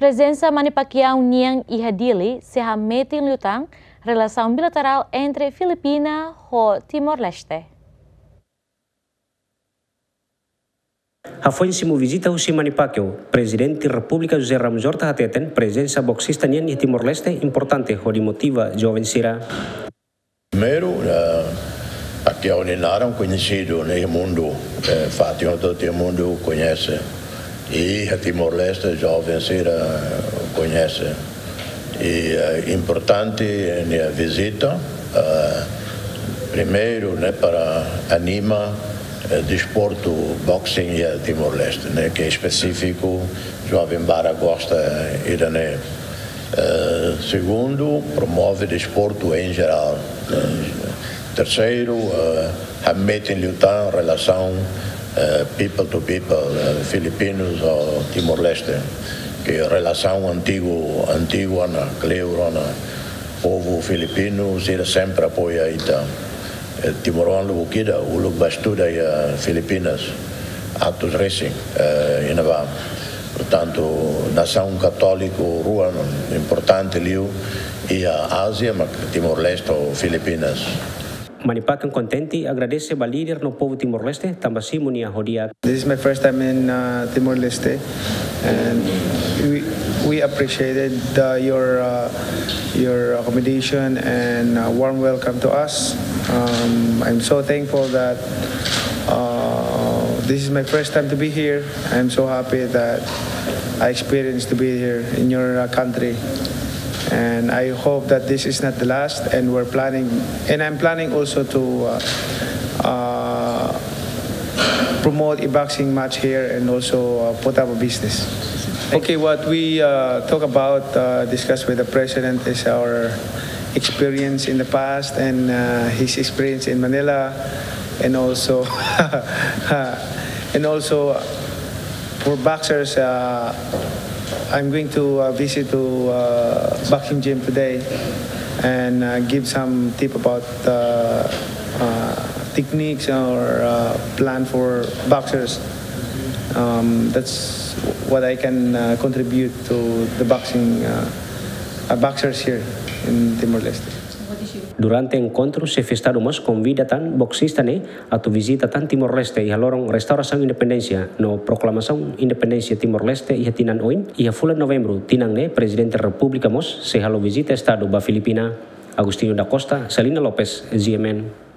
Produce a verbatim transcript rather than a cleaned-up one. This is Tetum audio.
Prezensa Manny Pacquiao nian iha Dili sei hametin liután relasaun bilaterál entre Filipina ho Timor-Leste. Hafoin simu vizita husi Manny Pacquiao, Prezidente Repúblika José Ramos Horta hateten prezensa boksista nian iha Timor-Leste importante hodi motiva joven sira. Primeiru, eh, Pacquiao nia naran koñesidu iha mundu, eh, fatin hotu iha mundu koñese. I iha Timor-Leste joven sira koñese. I, eh, importante nia vizita, eh, primeiru, ne'e, para anima, eh, desportu boxing iha Timor-Leste, ne'e, ke espesífiku, joven barak gosta ida-ne'e. Eh, segundu, promove desportu em geral. Eh, terseiru, eh, hametin liután relasaun, eh, people to people, eh, Filipinus ho Timor-Leste. Ke relasaun antigu, antigu ona, kleur ona, povu Filipinu sira sempre apoia ita. Eh, timoroan lubuk ida, uluk bá estuda iha Filipinas, Atos Racing, eh, iha ne'ebá. Portantu, nasaun katóliku rua importante liu iha Ázia, mak Timor-Leste ho Filipinas. Manny Pacquiao kontente, agradese ba líder no povu Timor-Leste tanba simu nia ho di'ak. This is my first time in, uh, Timor-Leste, and we, we appreciated, uh, your, uh, your accommodation and, uh, warm welcome to us. Um, I'm so thankful that, uh, this is my first time to be here. I'm so happy that I experienced to be here in your, uh, country. And I hope that this is not the last, and we're planning, and I'm planning also to, uh, uh, promote a boxing match here and also, uh, put up a business. Okay, what we, uh, talk about, uh, discuss with the president is our experience in the past and, uh, his experience in Manila, and also, and also for boxers, uh, I'm going to, uh, visit to, uh, boxing gym today and, uh, give some tip about, uh, uh, techniques or, uh, plan for boxers. Um, that's what I can, uh, contribute to the boxing, uh, uh, boxers here in Timor-Leste. Durante enkontru, Xefe Estadu mós konvida tan boksista ne'e atu vizita tan Timor-Leste iha loron restaurasaun independénsia no proklamasaun independénsia Timor-Leste iha tinan oin, iha fulan Novembru tinan ne'e Prezidente Repúblika mós sei halo vizita Estadu ba Filipina. Agostinho da Costa, Celina Lopes, G M N.